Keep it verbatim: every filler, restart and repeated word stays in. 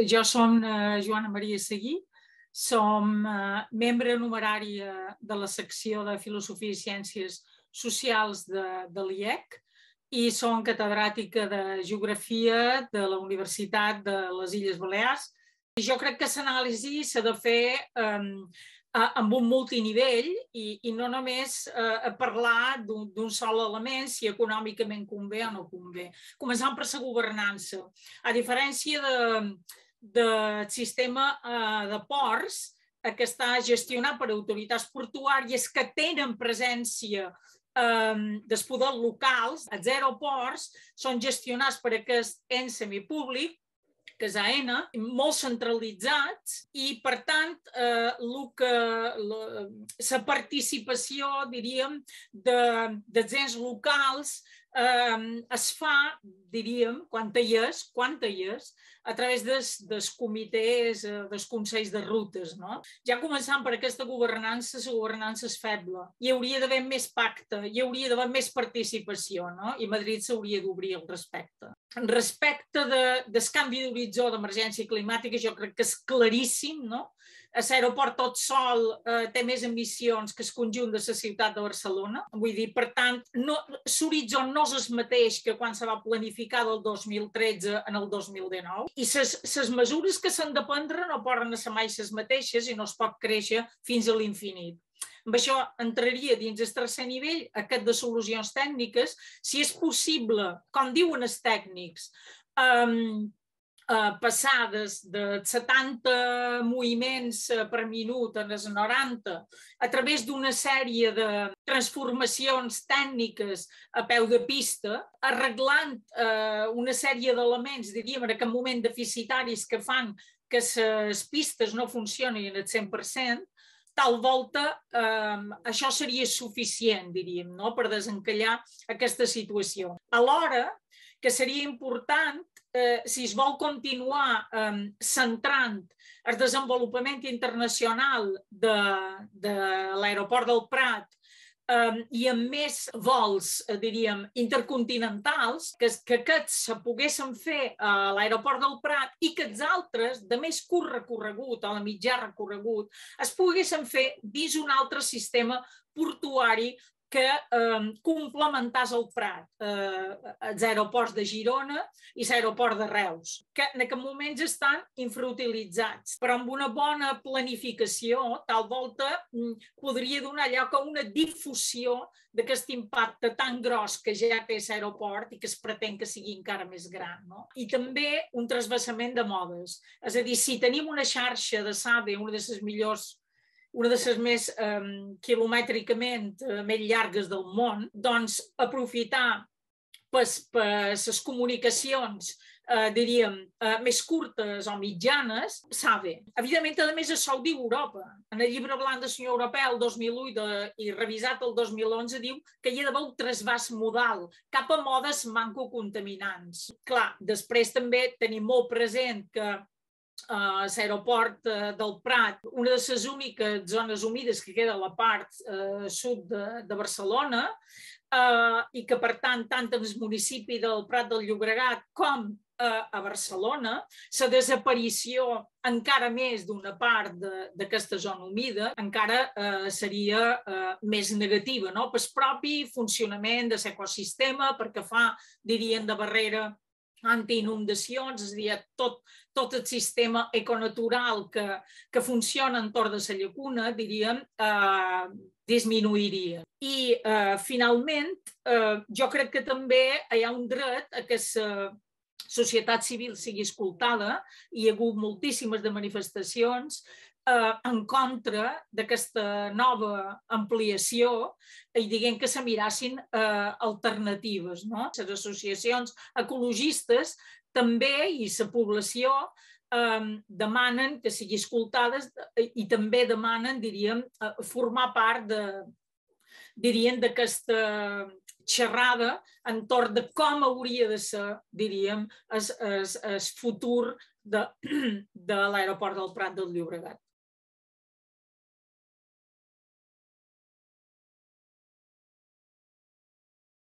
jo som eh, Joana Maria Seguí, som eh, membre numerària de la secció de Filosofia i Ciències Socials de, de l'I E C i som catedràtica de Geografia de la Universitat de les Illes Balears. I jo crec que l'anàlisi s'ha de fer eh, amb un multinivell i, i no només eh, parlar d'un sol element, si econòmicament convé o no convé. Començant per la governança. A diferència de, del sistema eh, de ports, eh, que està gestionat per autoritats portuàries que tenen presència eh, dels poders locals, els aeroports són gestionats per aquest ens semipúblic, que és A N, molt centralitzats i, per tant, eh, la participació, diríem, de, dels ens locals eh, es fa, diríem, quan hi és, quan hi és, a través dels, dels comitès, dels consells de rutes. No? Ja començant per aquesta governança, la governança és feble. Hi hauria d'haver més pacte, hi hauria d'haver més participació, no? I Madrid s'hauria d'obrir al respecte. Respecte de, del canvi d'horitzó d'emergència climàtica, jo crec que és claríssim, no? L'aeroport tot sol eh, té més emissions que el conjunt de la ciutat de Barcelona. Vull dir, per tant, no, l'horitzó no és el mateix que quan se va planificar del dos mil tretze en el dos mil dinou. I les mesures que s'han de prendre no poden ser mai les mateixes i no es pot créixer fins a l'infinit. Amb això entraria dins el tercer nivell, aquest de solucions tècniques, si és possible, com diuen els tècnics, eh, Uh, passar des de setanta moviments per minut a les noranta a través d'una sèrie de transformacions tècniques a peu de pista, arreglant uh, una sèrie d'elements, diríem, en aquest moment deficitaris que fan que les pistes no funcionin al cent per cent, tal volta eh, això seria suficient, diríem, no? Per desencallar aquesta situació. Alhora, que seria important, eh, si es vol continuar eh, centrant el desenvolupament internacional de, de l'aeroport del Prat eh, i amb més vols, eh, diríem, intercontinentals, que, que aquests se poguessin fer a l'aeroport del Prat i que els altres, de més curt recorregut o de mitjà recorregut, es poguessin fer dins un altre sistema portuari que eh, complementàs el Prat, eh, els aeroports de Girona i l'aeroport de Reus, que en aquest moments estan infrautilitzats, però amb una bona planificació, tal volta podria donar lloc a una difusió d'aquest impacte tan gros que ja té l'aeroport i que es pretén que sigui encara més gran. No? I també un trasbassament de modes. És a dir, si tenim una xarxa de SADE, una de les millors una de les més eh, quilomètricament eh, més llargues del món, doncs aprofitar les comunicacions, eh, diríem, eh, més curtes o mitjanes, SADE. Evidentment, a més, això ho diu Europa. En el llibre blanc del senyor Europeu, el dos mil u de, i revisat el dos mil onze, diu que hi ha d'haver un trasbàs modal cap a modes mancocontaminants. Clar, després també tenim molt present que Uh, l'aeroport uh, del Prat, una de les úniques zones humides que queda a la part uh, sud de, de Barcelona uh, i que, per tant, tant en el municipi del Prat del Llobregat com uh, a Barcelona, la desaparició encara més d'una part d'aquesta zona humida encara uh, seria uh, més negativa, no? Pel propi funcionament de l'ecosistema, perquè fa, dirien, de barrera antiinundacions, és a dir, tot, tot el sistema econatural que, que funciona entorn de la llacuna, diríem, eh, disminuiria. I, eh, finalment, eh, jo crec que també hi ha un dret a que la societat civil sigui escoltada. Hi ha hagut moltíssimes de manifestacions en contra d'aquesta nova ampliació i diguem que se mirassin eh, alternatives. No? Les associacions ecologistes també i la població eh, demanen que sigui escoltades i també demanen, diríem, formar part de, dirien, d'aquesta xerrada entorn de com hauria de ser, diríem, el futur de, de l'aeroport del Prat del Llobregat.